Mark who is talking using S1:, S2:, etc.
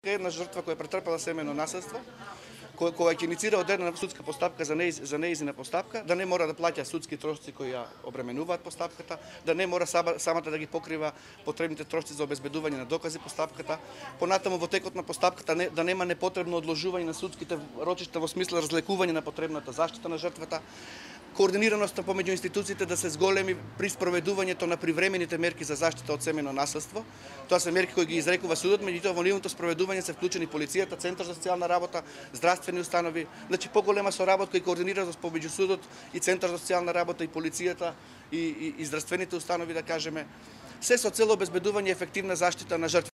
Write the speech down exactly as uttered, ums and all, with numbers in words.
S1: Една жртва која претрпела семено насилство, која која ќе иницира одредена судска постапка за неиз, за неизина постапка, да не мора да плаќа судски трошоци кои ја обременуваат постапката, да не мора самата да ги покрива потребните трошоци за обезбедување на докази постапката, понатаму во текот на постапката не, да нема непотребно одложување на судските рочишта во смисла разлекување на потребната заштита на жртвата, координираноста помеѓу институциите да се зголеми при спроведувањето на привремените мерки за заштита од семено насилство. Тоа се мерки кои ги изрекува судот, меѓутоа во нивното спроведување се вклучени полицијата, Центар за социјална работа, здравствени установи, значи поголема соработка и координираност помеѓу судот и Центар за социјална работа и полицијата и, и, и здравствените установи, да кажеме, се со цел обезбедување ефективна заштита на жртвите.